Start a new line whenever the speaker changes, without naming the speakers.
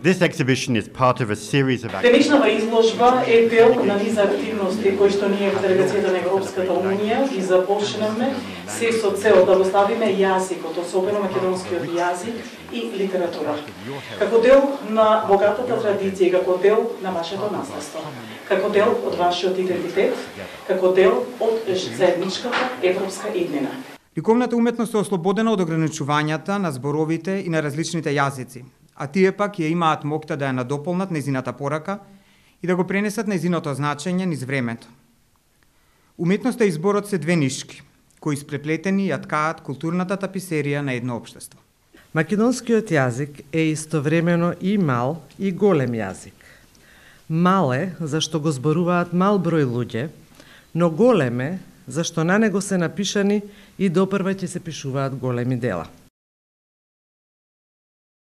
This exhibition is part of a series of
Денешната изложба е дел на низ активности кои што ние во делегацијата на Европската унија ги започнавме се со цел да го ставиме јазикот, особено македонскиот јазик и литература. Како дел на богатата традиција, како дел на вашето наследство, како дел од вашиот идентитет, како дел од заедничката европска иднина.
Ликовната уметност е ослободена од ограничувањата на зборовите и на различните јазици, а тие пак ја имаат моќта да ја надополнат нејзината порака и да го пренесат нејзиното значење низ времето. Уметноста и зборот се две нишки, кои спреплетени ја ткаат културната таписерија на едно општество.
Македонскиот јазик е истовремено и мал и голем јазик. Мал е зашто го зборуваат мал број луѓе, но голем е зашто на него се напишани и допрва ќе се пишуваат големи дела.